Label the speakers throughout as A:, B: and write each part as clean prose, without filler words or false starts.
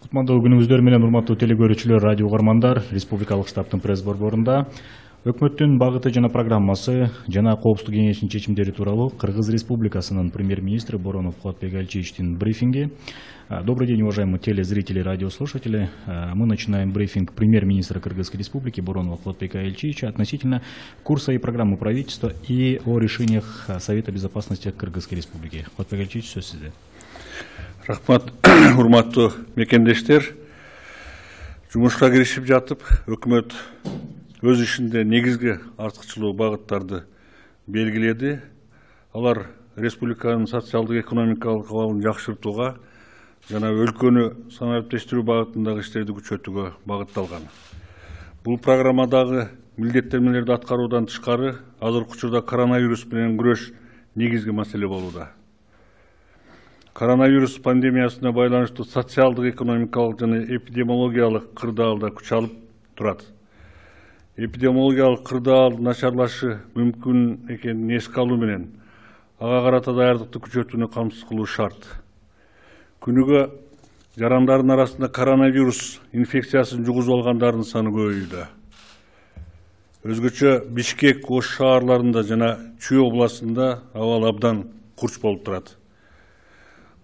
A: Кутмандуу күнүңүздөр менен урматтуу телекөрүүчүлөр, радио угармандар. Республикалык штабтын пресс борборунда өкмөттүн багыты жана программасы жана Коопсуздук кеңешинин чечимдери тууралуу Кыргыз Республикасынын премьер-министри Боронов Кубатбек Альчиевичтин брифинги. Добрый день, уважаемые телезрители и радиослушатели. Мы начинаем брифинг премьер-министра Кыргызской Республики Боронова Кубатбека Альчиевича относительно курса и программы правительства и о решениях Совета Безопасности Кыргызской Республики. Кубатбек Альчиевич, сөз сизде.
B: Рахмат, урматтуу мекендештер. Жумушка киришип жатып, өкмөт өз ишинде негизги артыкчылуу багыттарды белгиледи. Алар республиканын социалдык экономикалык абалын жакшыртууга жана өлкөнү санариптештирүү багытындагы иштерди күчөтүүгө багытталган. Бул программадагы милдеттенмелерди аткаруудан тышкары азыркы учурда коронавирус менен күрөш негизги маселе болууда. Коронавирус пандемиясына байланыштуу социалдык, экономикалык жана эпидемиологиялык кырдаалда күч алып турат. Эпидемиологиялык кырдаал начарлашы мүмкүн экенин эске алуу менен ага карата даярдыкты күчөтүүнү камсыз кылуу шарт. Күнүгө жарандардын арасында коронавирус инфекциясын жугузуп алгандардын саны көбөйүүдө. Өзгөчө Бишкек, Ош шаарларында жана Чүй областында абал абдан курч болуп турат.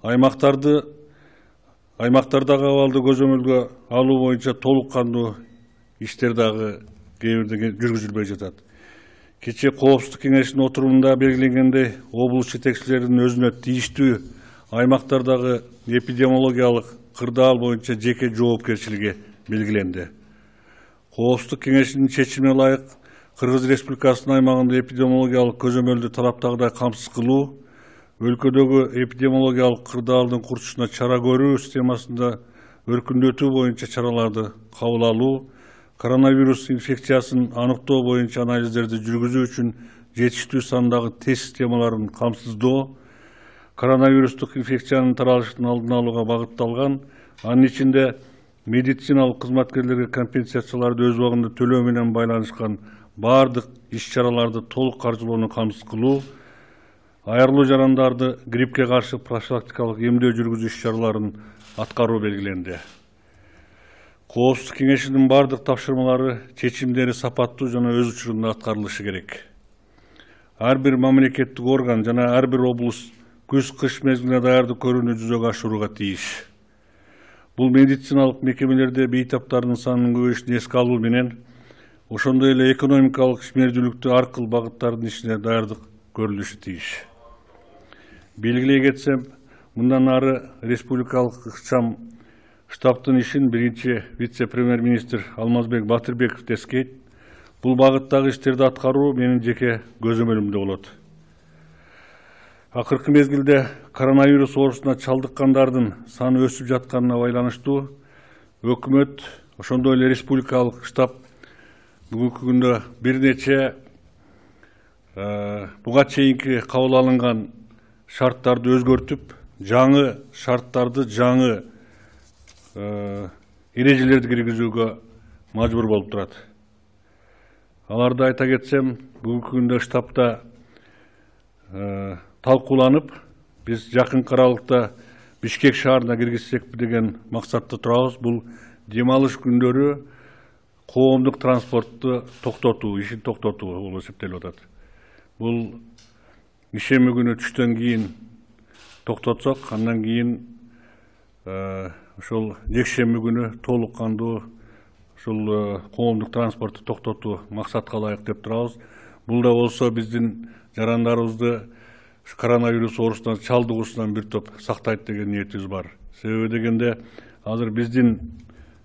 B: Аймактардагы абалды көзөмөлгө алуу боюнча толук кандуу иштер дагы кээ бирде жүргүзүлбөй жатат. Кечээ Коопсуздук кеңешинин отурумунда белгиленгендей, облус жетекчилеринин өзүнө тийиштүү аймактардагы эпидемиологиялык кырдаал боюнча жеке жоопкерчилиги белгиленди. Коопсуздук кеңешинин чечимине ылайык Кыргыз Республикасынын аймагында эпидемиологиялык көзөмөлдү талаптагыдай камсыз кылуу, өлкөдөгү эпидемиологиялык кырдаалдын курчушуна чара көрүү системасында өркүндөтүү боюнча чараларды кабыл алуу, коронавирус инфекциясын аныктоо боюнча анализдерди жүргүзүү үчүн жетиштүү сандагы тест системаларын камсыздоо, коронавирустук инфекциянын таралышын алдын алууга багытталган, анын ичинде медициналык кызматкерлерге компенсацияларды өз убагында төлөө менен байланышкан бардык иш-чараларды толук каржылоону камсыз кылуу, айрылуу жарандарды гриппке каршы профилактикалык эмдөө жүргүзүү иш-чараларын аткаруу белгиленди. Коопсуздук кеңешинин бардык тапшырмалары, чечимдери сапаттуу жана өз учурунда аткарылышы керек. Ар бир мамлекеттик орган жана ар бир облус күз-кыш мезгилине даярдык көрүүнү жүзөгө ашырууга тийиш. Бул медициналык мекемелерде бейтаптардын санынын көбөйүшүн эске алуу менен, ошондой эле экономикалык ишмердүүлүктү ар кыл багыттардын ишине даярдык көрүлүшү тийиш. Белгилей кетсем, мындан ары республикалык ыкчам штабтын ишин биринчи вице-премьер-министр Алмазбек Батырбеков тескейт. Бул багыттагы иштерди аткаруу менин жеке көзөмөлүмдө болот. Акыркы мезгилде коронавирус оорусуна чалдыккандардын саны өсүп жатканына байланыштуу өкмөт, ошондой эле республикалык штаб бүгүнкү күндө бир нече буга чейинки кабыл алынган шарттарды өзгөртүп, жаңы шарттарды, жаңы эрежелерди киргизүүгө мажбур болуп турат. Аларды айта кетсем, бүгүнкү күндө штабта талкууланып, биз жакынкы аралыкта Бишкек шаарына киргизсекпи деген максатта турабыз. Бул дем алыш күндөрү коомдук транспортту токтотуу, ишин токтотуу болуп эсептелип атат. Бул ишемби күнү түштөн кийин токтотсок, андан кийин ошол жекшемби күнү толук кандуу ушул коомдук транспортту токтотуу максатка ылайык деп турабыз. Бул да болсо биздин жарандарыбызды коронавирус оорусуна чалдыгуусунан бир топ сактайт деген ниетибиз бар. Себеби дегенде азыр биздин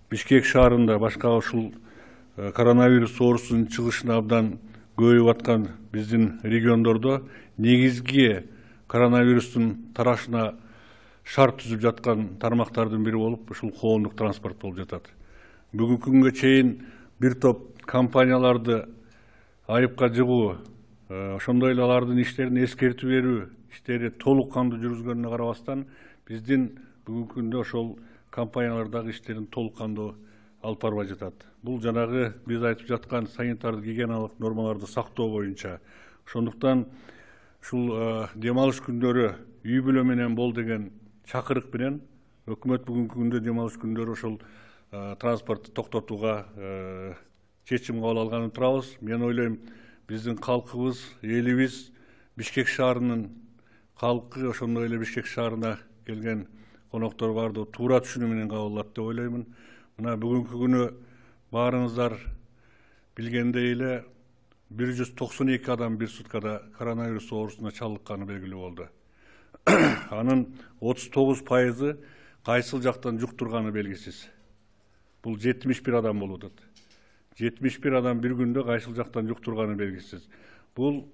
B: Бишкек шаарында башка ушул коронавирус оорусунун чыгышына абдан көбөйүп аткан биздин региондордо негизги коронавирустун тарашына шарт түзүп жаткан тармактардын бири болуп ушул коомдук транспорт болуп жатат. Бүгүнкү күнгө чейин бир топ компанияларды айыпка жыгуу, ошондой эле алардын иштерин эскертүү берүү иштери толук кандуу жүргүзгөнүнө карабастан, биздин бүгүнкү күндө ошол компаниялардагы иштерин толук кандуу алып барбай жатат. Бул жанагы биз айтып жаткан санитардык гигиеналык нормаларды сактоо боюнча. Ошондуктан ушул дем алыш күндөрү үй бүлө менен бол деген чакырык менен өкмөт бүгүнкү күндө дем алыш күндөрү ошол транспортты токтотууга чечим кабыл алганын турабыз. Мен ойлойм, биздин калкыбыз, элибиз, Бишкек шаарынын калкы, ошондой эле Бишкек шаарына келген коноктор баардыгы туура түшүнүү менен кабыл алат деп ойлоймун. Мына бүгүнкү күнү баарыңыздар билгендей эле 192 адам бир суткада коронавирус оорусуна чалдыкканы белгилүү болду. Анын 39% кайсыл жактан жуктурганы белгисиз. Бул 71 адам болуп атат. 71 адам бир күндө кайсыл жактан жуктурганы белгисиз. Бул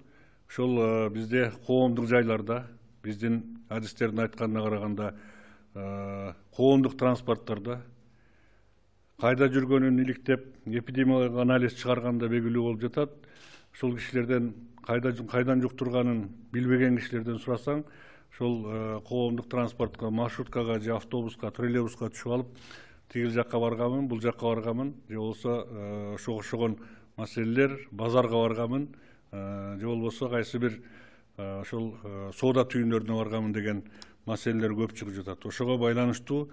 B: ошол бизде коомдук жайларда, биздин адистердин айтканына караганда, коомдук транспорттарда кайда жүргөнүн иликтеп эпидемиологиялык анализ чыгарганда белгилүү болуп жатат. Ошол кишилерден кайдан жуктурганын билбеген кишилерден сурасаң, ошол коомдук транспортко, маршруткага же автобуска, троллейбуска түшүп алып, тигил жакка барганмын, бул жакка барганмын, же болбосо ошого окшогон маселелер, базарга барганмын, же болбосо кайсы бир ошол соода түйүндөрүнө барганмын деген маселелер көп чыгып жатат. Ошого байланыштуу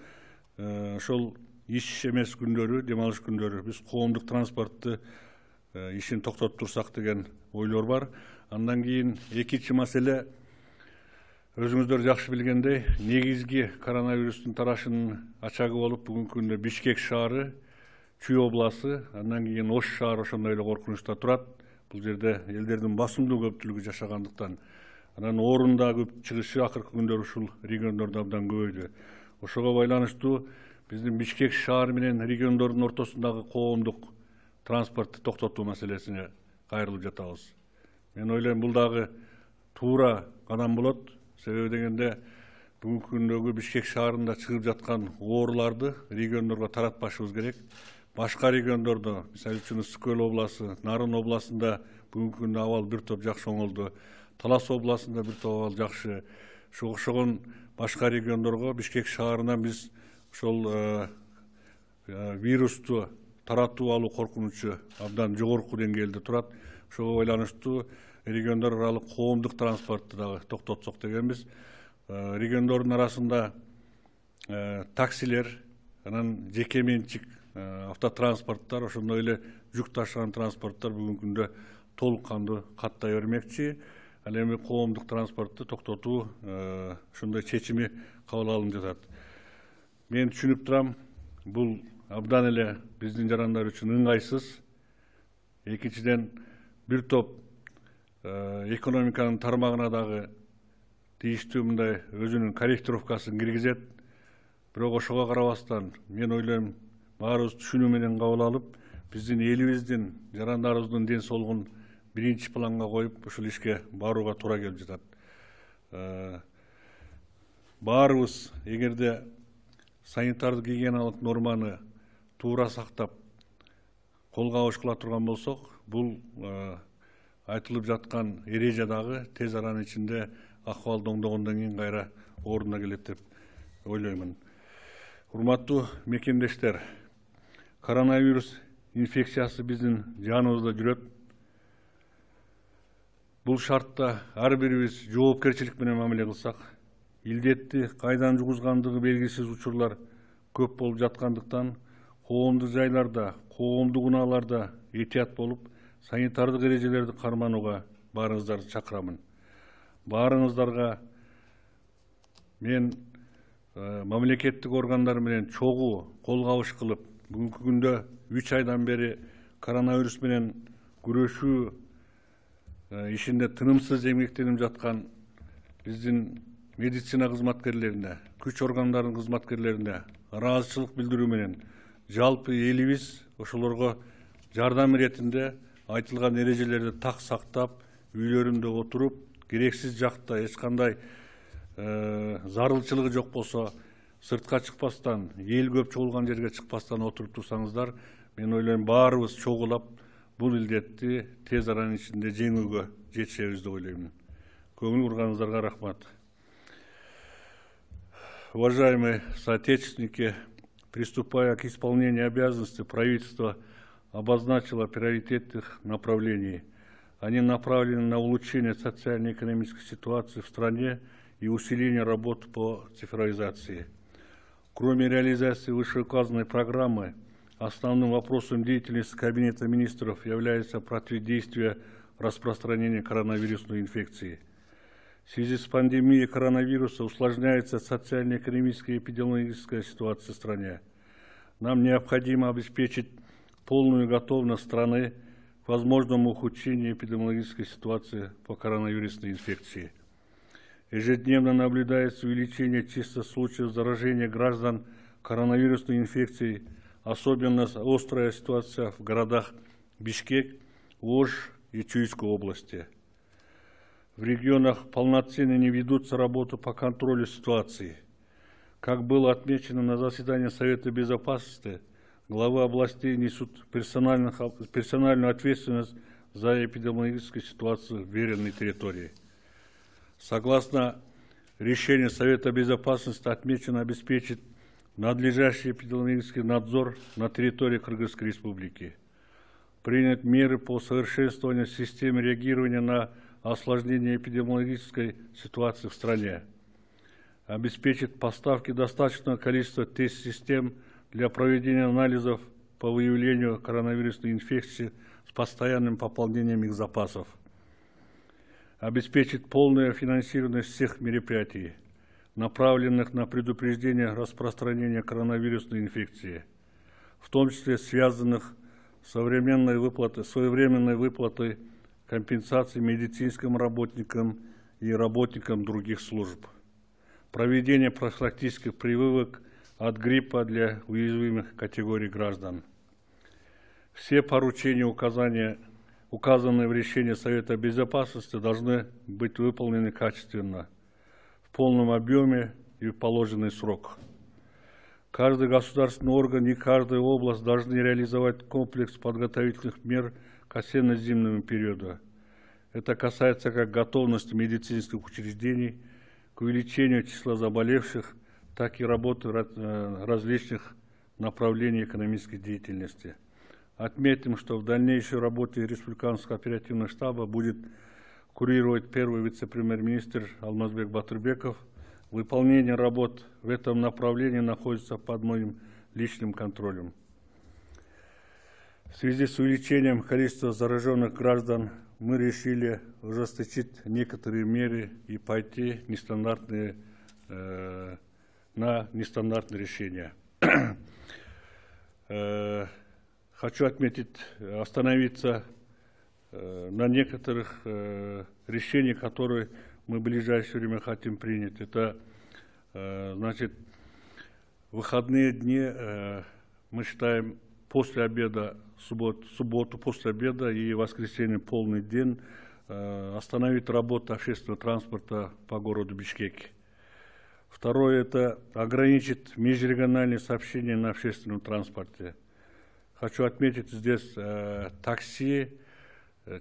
B: ошол иш эмес күндөрү, дем алыш күндөрү биз коомдук транспортты ишин токтотуп турсак деген ойлор бар. Андан кийин экинчи маселе, өзүңүздөр жакшы билгендей, негизги коронавирустун тарашынын ачагы болуп бүгүнкү күндө Бишкек шаары, Чүй областы, андан кийин Ош шаары ошондой эле коркунучта турат. Бул жерде элдердин басымдуу көпчүлүгү жашагандыктан, анан оорунда көп чыгышы акыркы күндөр ушул региондордо абдан көбөйдү. Ошого байланыштуу биздин Бишкек шаары менен региондордун ортосундагы коомдук транспортты токтотуу маселесине кайрылып жатабыз. Мен ойлойм, бул дагы туура кадам болот. Себеби дегенде бүгүнкү күндөгү Бишкек шаарында чыгып жаткан ооруларды региондорго таратпашыбыз керек. Башка региондордо, мисалы үчүн Ысык-Көл областы, Нарын областында бүгүнкү күндө абал бир топ жакшы оңолду. Талас областында бир топ абал жакшы. Окшогон башка региондорго Бишкек шаарынан биз ошол вирусту таратып алуу коркунучу абдан жогорку деңгээлде турат. Ошого байланыштуу региондор аралык коомдук транспортты дагы токтотсок дегенбиз. Региондордун арасында таксилер, анан жеке менчик автотранспорттар, ошондой эле жүк ташыган транспорттор бүгүнкү күндө толук кандуу каттай бермекчи. Ал эми коомдук транспортты токтотуу ошондой чечими кабыл алынып жатат. Мен түшүнүп турам, бул абдан эле биздин жарандар үчүн ыңгайсыз. Экинчиден, бир топ экономиканын тармагына дагы тийиштүү мындай өзүнүн корректировкасын киргизет. Бирок ошого карабастан, мен ойлойм, баарыбыз түшүнүү менен кабыл алып, биздин элибиздин, жарандарыбыздын ден соолугун биринчи планга коюп, ушул ишке барууга туура келип жатат. Баарыбыз эгерде санитардык гигиеналык норманы туура сактап, колго абыш кыла турган болсок, бул айтылып жаткан эреже дагы тез аранын ичинде акыбалды оңдогондон кийин кайра ордуна келет деп ойлоймун. Урматтуу мекендештер, коронавирус инфекциясы биздин жаныбызда жүрөт. Бул шартта ар бирибиз жоопкерчилик менен мамиле кылсак, илдетти кайдан жугузгандыгы белгисиз учурлар көп болуп жаткандыктан, коомдук жайларда, коомдук унааларда этият болуп, санитардык эрежелерди карманууга баарыңыздарды чакырамын. Баарыңыздарга мен мамлекеттик органдар менен чогуу кол кабыш кылып, бүгүнкү күндө 3 айдан бери коронавирус менен күрөшүү ишинде тынымсыз эмгектенип жаткан биздин медицина кызматкерлерине, күч органдарынын кызматкерлерине ыраазычылык билдирүү менен жалпы элибиз ошолорго жардам иретинде айтылган эрежелерди так сактап, үйлөрүндө отуруп, керексиз жакта эч кандай зарылчылыгы жок болсо сыртка чыкпастан, эл көп чогулган жерге чыкпастан отуруп турсаңыздар, мен ойлойм, баарыбыз чогулап бул илдетти тез аранын ичинде жеңүүгө жетишебиз деп ойлоймун. Көңүл бурганыңыздарга рахмат. Уважаемые соотечественники, приступая к исполнению обязанностей, правительство обозначило приоритетных направлений. Они направлены на улучшение социально-экономической ситуации в стране и усиление работы по цифровизации. Кроме реализации вышеуказанной программы, основным вопросом деятельности Кабинета министров является противодействие распространению коронавирусной инфекции. В связи с пандемией коронавируса усложняется социально-экономическая и эпидемиологическая ситуация в стране. Нам необходимо обеспечить полную готовность страны к возможному ухудшению эпидемиологической ситуации по коронавирусной инфекции. Ежедневно наблюдается увеличение числа случаев заражения граждан коронавирусной инфекцией, особенно острая ситуация в городах Бишкек, Ош и Чуйской области. В регионах полноценно не ведутся работы по контролю ситуации. Как было отмечено на заседании Совета Безопасности, главы областей несут персональную ответственность за эпидемиологическую ситуацию в веренной территории. Согласно решению Совета Безопасности отмечено обеспечить надлежащий эпидемиологический надзор на территории Кыргызской Республики. Принять меры по совершенствованию системы реагирования на осложнение эпидемиологической ситуации в стране. Обеспечить поставки достаточного количества тест-систем для проведения анализов по выявлению коронавирусной инфекции с постоянным пополнением их запасов. Обеспечить полное финансирование всех мероприятий, направленных на предупреждение распространения коронавирусной инфекции, в том числе связанных с своевременной выплатой компенсации медицинским работникам и работникам других служб, проведение профилактических прививок от гриппа для уязвимых категорий граждан. Все поручения, указанные в решении Совета Безопасности, должны быть выполнены качественно, в полном объеме и в положенный срок. Каждый государственный орган и каждая область должны реализовать комплекс подготовительных мер к осенне-зимному периоду. Это касается как готовности медицинских учреждений к увеличению числа заболевших, так и работы различных направлений экономической деятельности. Отметим, что в дальнейшей работе Республиканского оперативного штаба будет курировать первый вице-премьер-министр Алмазбек Батырбеков. Выполнение работ в этом направлении находится под моим личным контролем. В связи с увеличением количества зараженных граждан мы решили ужесточить некоторые меры и пойти на нестандартные решения. Хочу остановиться на некоторых решениях, которые мы в ближайшее время хотим принять. Это, значит, выходные дни мы считаем после обеда, субботу после обеда и воскресенье полный день остановить работу общественного транспорта по городу Бишкеке. Второе – это ограничить межрегиональные сообщения на общественном транспорте. Хочу отметить здесь такси,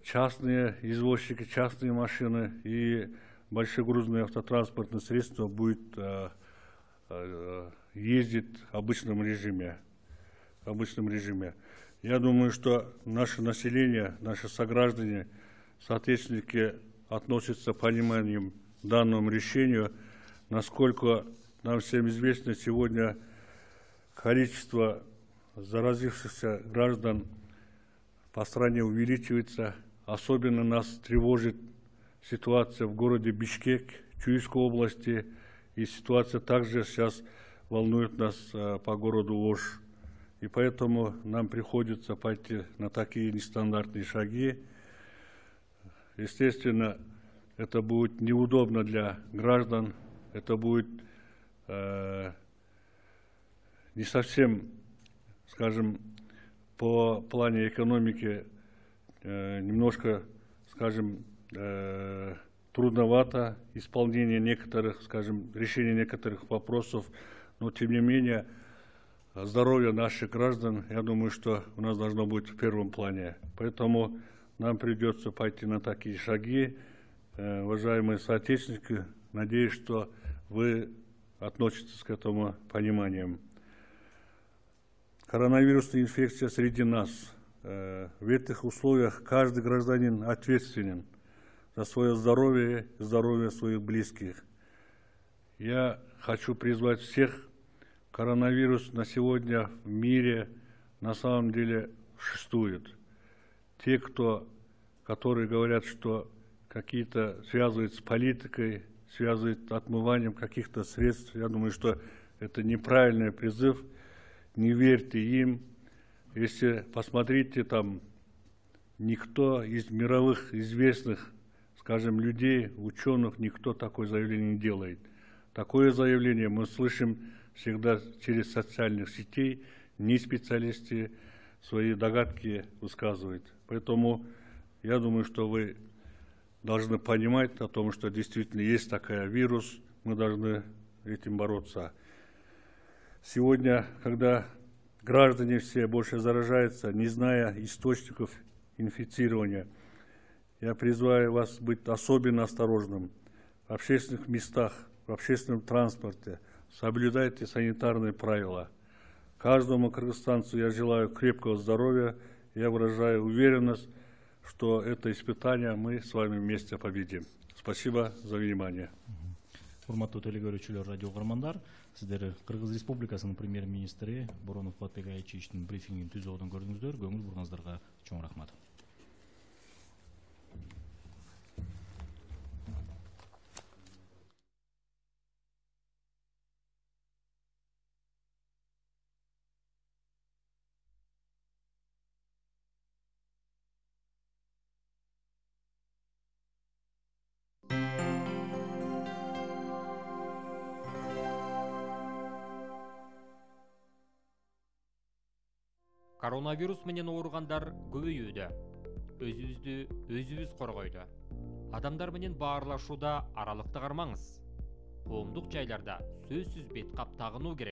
B: частные извозчики, частные машины и большегрузные автотранспортные средства будут ездить в обычном режиме. Я думаю, что наше население, наши сограждане, соответственно, относятся с пониманием к данному решению, насколько нам всем известно, сегодня количество заразившихся граждан по стране увеличивается. Особенно нас тревожит ситуация в городе Бишкек, Чуйской области, и ситуация также сейчас волнует нас по городу Ош. И поэтому нам приходится пойти на такие нестандартные шаги. Естественно, это будет неудобно для граждан, это будет не совсем, скажем, по плане экономики немножко, скажем, трудновато исполнение некоторых, скажем, решение некоторых вопросов, но тем не менее здоровье наших граждан, я думаю, что у нас должно быть в первом плане. Поэтому нам придется пойти на такие шаги. Уважаемые соотечественники, надеюсь, что вы относитесь к этому пониманием. Коронавирусная инфекция среди нас. В этих условиях каждый гражданин ответственен за свое здоровье и здоровье своих близких. Я хочу призвать всех коронавирус на сегодня в мире на самом деле существует. Те, которые говорят, что какие-то связывают с политикой, связывают отмыванием каких-то средств, я думаю, что это неправильный призыв, не верьте им. Если посмотрите, там никто из мировых известных, скажем, людей, ученых, никто такое заявление не делает. Такое заявление мы слышим всегда через социальных сетей, не специалисты свои догадки высказывают. Поэтому я думаю, что вы должны понимать о том, что действительно есть такой вирус, мы должны этим бороться. Сегодня, когда граждане все больше заражаются, не зная источников инфицирования, я призываю вас быть особенно осторожным в общественных местах, в общественном транспорте. Соблюдайте санитарные правила. Каждому кыргызстанцу я желаю крепкого здоровья. Я выражаю уверенность, что это испытание мы с вами вместе победим. Спасибо за внимание.
A: Урматтуу телегөрүүчүлөр, радио угармандар, сиздер Кыргыз Республикасынын премьер-министри Боронов Кубатбек Айчичтин брифингин түзүүдөн көрдүңүздөр. Көңүл бурганыңыздарга чоң рахмат.
C: Коронавирус менен ооругандар көбөйүүдө. Өзүбүздү өзүбүз коргойду. Адамдар менен баарлашууда аралыкты кармаңыз. Коомдук жайларда сөзсүз бет кап тагынуу керек.